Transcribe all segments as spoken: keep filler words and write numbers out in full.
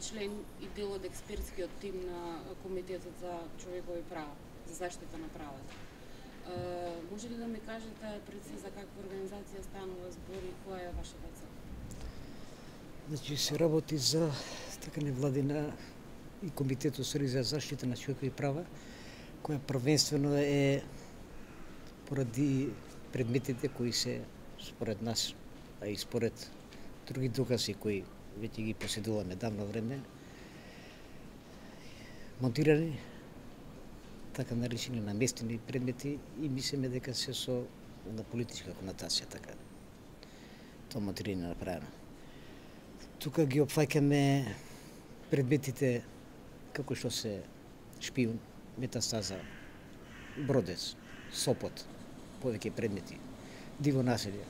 член и дел од експертскиот тим на Комитетот за човекови права, за заштита на правата. Uh, може ли да ми кажете прецизно за каква организација станува збор и која е вашата цел? Значи се работи за така невладина и Комитетот за заштита на човекови права, која првенствено е поради предметите кои се според нас, а и според други докази кои веќе ги поседуваме давно време, монтирани, така наречени наместени предмети и мислиме дека се со на политичка конотација така. Тоа монтирање направено. Тука ги опфаќаме предметите како што се шпион, метастаза, бродец, сопот, повеќе предмети, диво населје.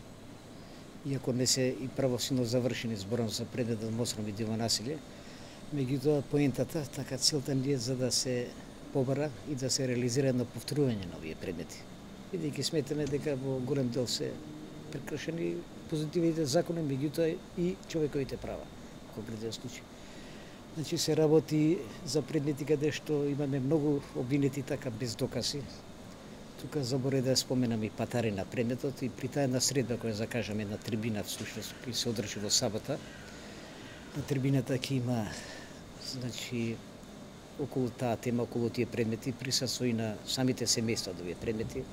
Иако не се и правосилно завршени збором за предметот мостром и диво населје, меѓутоа поентата, така целта ни е за да се побара и да се реализира едно повторување на овие предмети. Бидејќи сметаме дека во голем дел се прекршени позитивните закони, меѓутоа и човековите права во конкретен случај. Значи се работи за предмети каде што имаме многу обвинети така без докази. Тука заборе да споменам и патари на предметот и при таа една средба која закажаме на трибина всушност кој се одржи во сабота. На трибината ќе има значи околу таа тема, околу тие предмети, присуство и на самите семејства од овие предмети,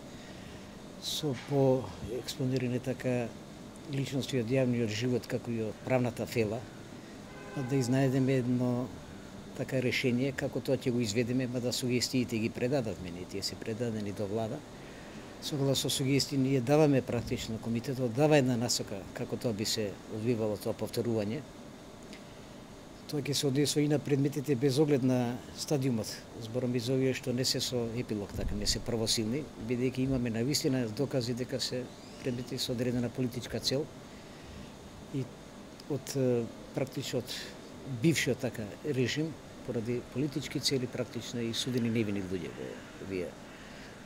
со по експонирани така личности од јавниот живот, како и од правната фела, да изнајдеме едно така решение, како тоа ќе го изведеме, мада сугестиите ги предадавме, и тие се предадени до влада. Согласно сугестии ние даваме практично, комитетот дава една насока како тоа би се одвивало тоа повторување. Тоа ќе се однесува и на предметите без оглед на стадиумот. Зборам и за овие што не се со епилог, така не се правосилни, бидејќи имаме навистина докази дека се предмети со одредена политичка цел и од практично од бившиот така режим поради политички цели практично и судени невини луѓе во овие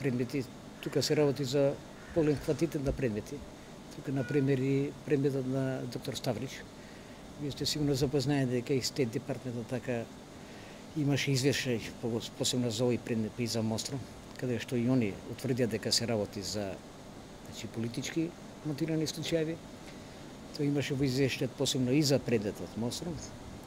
предмети. Тука се работи за полен квантитет на предмети. Тука например и предметот на доктор Ставрич. Вие сте сигурно запознаени дека и Стейт департментот така имаше извешај посебно за овој предмет и за Мостром, каде што и они утврдија дека се работи за значи политички мотивирани случаи. Тоа имаше во извештајот посебно и за предметот Мостром.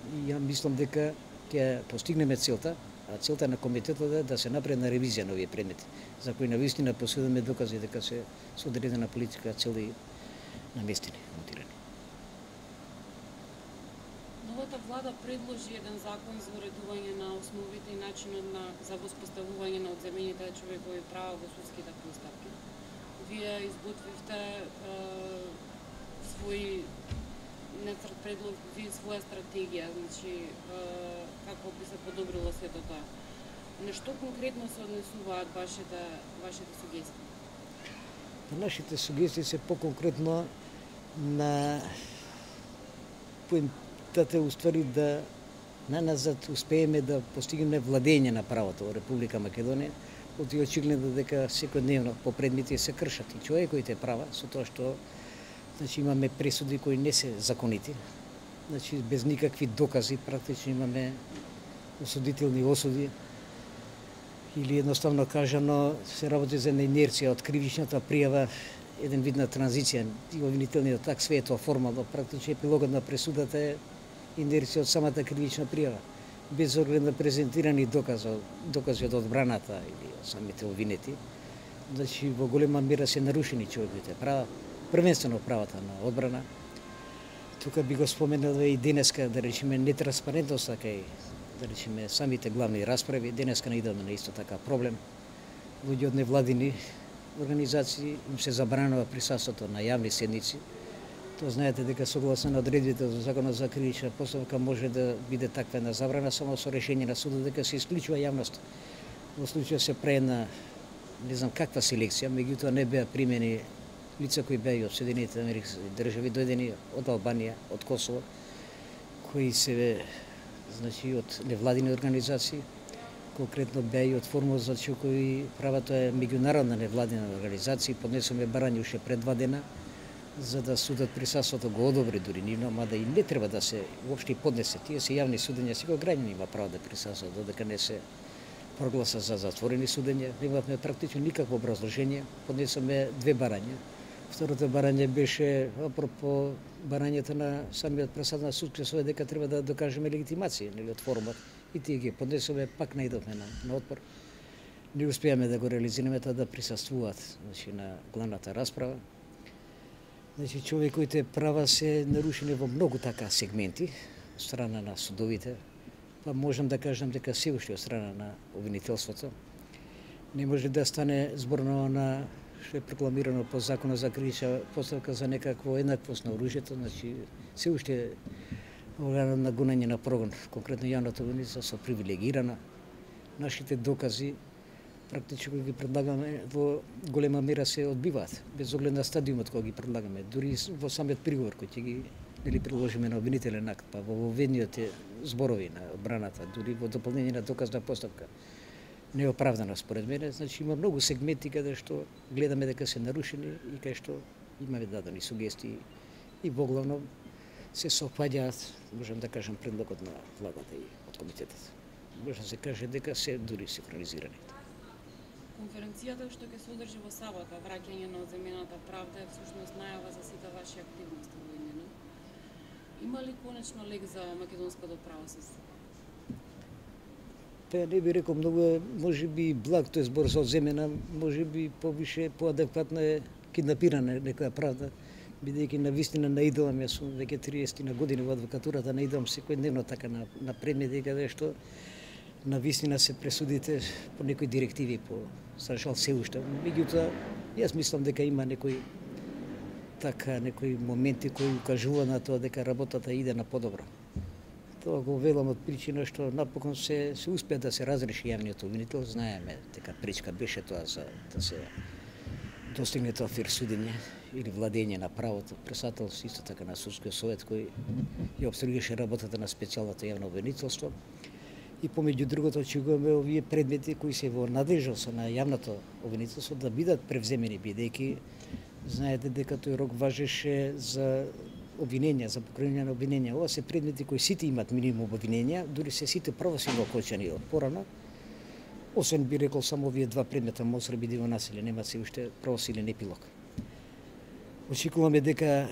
И ја мислам дека ќе постигнеме целта, а целта на комитетот е да се направи на ревизија на овие предмети, за кои навистина поседуваме докази дека се со одредена политичка цел и наместени, монтирани. Новата влада предложи еден закон за уредување на основите и начинот на за воспоставување на одземените човекови права во судските постапки. Вие изготвивте е, свој нецрт предлог, вие своја стратегија, значи е, како би се подобрило сето тоа. На што конкретно се однесуваат вашите вашите сугестии? Нашите сугестии се поконкретно на поентата уствари да наназад успееме да постигнеме владење на правото во Република Македонија, од и очигледно дека секојдневно по предмети се кршат и човековите права со тоа што значи имаме пресуди кои не се законити. Значи без никакви докази практично имаме осудителни осуди или едноставно кажано се работи за една инерција од кривичната пријава, еден вид на транзиција и обвинителниот так све е тоа формално, практично епилогот на пресудата е инерција од самата кривична пријава, без оглед на презентирани докази, докази од одбраната или од самите обвинети. Значи во голема мера се нарушени човековите права, првенствено правата на одбрана. Тука би го споменал и денеска, да речеме, нетранспарентноста кај, да речеме, самите главни расправи. Денеска наидаме на исто така проблем. Луѓе од невладини организации им се забранува присуството на јавни седници. Тоа знаете дека согласно на одредбите за Законот за кривична постапка може да биде таква една забрана само со решение на судот дека се исклучува јавност. Во случај се прави на не знам каква селекција, меѓутоа не беа примени лица кои беа и од Соединетите американски држави, дојдени од Албанија, од Косово, кои се значи од невладини организации, конкретно беа и од Форумот за човекови права, тоа е меѓународна невладина организација, поднесоме барање уште пред два дена за да судот присуството го одобри дури нивно, мада и не треба да се уопште поднесе. Тие се јавни судења, секој граѓанин има право да присуствува, додека не се прогласа за затворени судења. Немавме практично никакво образложение, поднесоме две барања. Второто барање беше апропо барањето на самиот председател на судскиот совет дека треба да докажеме легитимација, нели, од форумот. И тие ги поднесоме, пак наидовме на, на отпор. Не успеаме да го реализираме тоа да присуствуваат, значи, на главната расправа. Значи, човековите права се нарушени во многу така сегменти од страна на судовите, па можам да кажам дека се уште од страна на обвинителството. Не може да стане зборно на што е прокламирано по законот за кривична постапка за некакво еднаквост на оружјето, значи се уште органот на гонење на прогон, конкретно јавната обвинителство со привилегирана. Нашите докази практично ги предлагаме во голема мера се одбиваат, без оглед на стадиумот кој ги предлагаме. Дури во самиот приговор кој ќе ги нели приложиме на обвинителен акт, па во воведниот зборови на одбраната, дури во дополнение на доказна постапка, неоправдано според мене. Значи има многу сегменти каде што гледаме дека се нарушени и кај што имаме дадени сугестии и во главно се совпаѓаат, можам да кажам, предлогот на владата и од комитетот. Може да се каже дека се дури синхронизирани. Конференцијата што ќе се одржи во сабота, враќање на одземената правда, е всушност најава за сите ваши активности во Инина. Има ли конечно лек за македонското правосудство? Па не би рекол многу, може би благ тој збор за одземена, може би повише, поадекватно е киднапирана некоја правда, бидејќи навистина наидувам, јас сум веќе триесет на години во адвокатурата, наидувам секојдневно така на, на предмети каде што навистина се пресудите по некои директиви, по за жал се уште. Меѓутоа, јас мислам дека има некои така некои моменти кои укажува на тоа дека работата иде на подобро. Тоа го велам од причина што напокон се се успеа да се разреши јавниот обвинител. Знаеме дека пречка беше тоа за да се достигне тоа фер судење или владење на правото. Председател исто така на судскиот совет кој ја обстригаше работата на специјалното јавно обвинителство. И помеѓу другото очекуваме овие предмети кои се во надлежност на јавното обвинителство да бидат превземени, бидејќи знаете дека тој рок важеше за обвиненија, за покренање на обвиненија. Ова се предмети кои сите имат минимум обвиненија, дури се сите правосудно окончани од порано. Освен би рекол само овие два предмета Монстр и бидиво насилие, нема се уште правосилен епилог. Очекуваме дека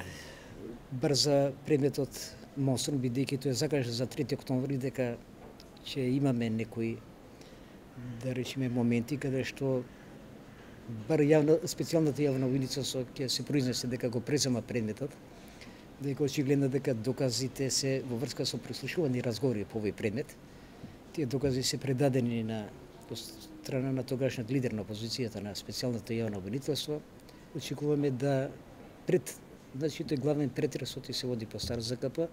брза предметот Монстр, бидејќи тој е закажан за трети октомври, дека ќе имаме некои, да речеме, моменти каде што бар јавна, специјалната јавна обвинителство ќе се произнесе дека го презема предметот, дека очигледно дека доказите се во врска со прислушувани разговори по овој предмет. Тие докази се предадени на страна на тогашниот лидер на опозицијата на специјалното јавно обвинителство. Очекуваме да пред, значи тој главен претрес оти се води по стар ЗКП,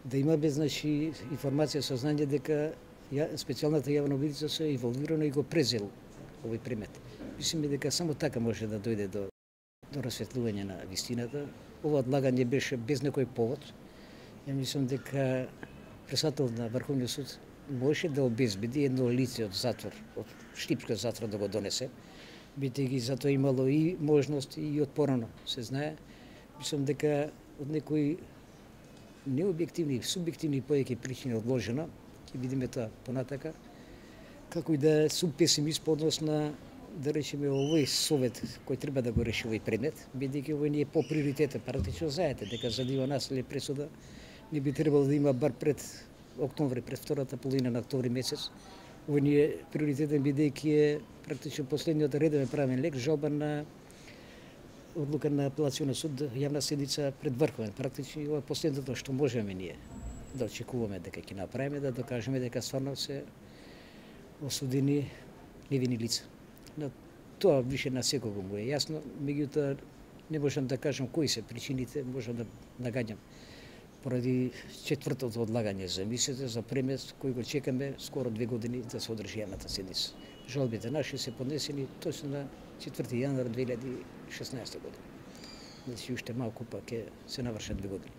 да имаме, значи, информација, сознание дека ја, специјалната јавна обвинителство е инволвирано и го презел овој предмет. Мислиме дека само така може да дојде до, до расветлување на вистината. Ова одлагање беше без некој повод. Ја мислам дека председател на Врховниот суд може да обезбеди едно лице од затвор, од Штипскиот затвор да го донесе, бидејќи за тоа имало и можност и од порано, се знае. Мислам дека од некои необјективни, субјективни повеќе причини одложено, ќе видиме тоа понатака, како и да сум песимист по однос на, да речеме, овој совет кој треба да го реши овој предмет, бидејќи овој не е по приоритетен. Практично знаете дека за дива насилие пресуда не би требало да има бар пред октомври, пред втората половина на октомври месец. Овој не е приоритетен бидејќи е практично последниот редовен правен лек, жалба на одлука на апелацијниот суд, јавна седница пред Врховен. Практично ова е последното што можеме ние да очекуваме дека ќе направиме, да докажеме дека стварно се осудени невини лица. Но тоа више на секого му е јасно, меѓутоа не можам да кажам кои се причините, можам да нагаѓам поради четвртото одлагање за мислите за премес кој го чекаме скоро две години да се одржи јавната седница. Жалбите наши се поднесени точно на четврти јануар две илјади и шеснаесета година. Значи уште малку па ќе се навршат две години.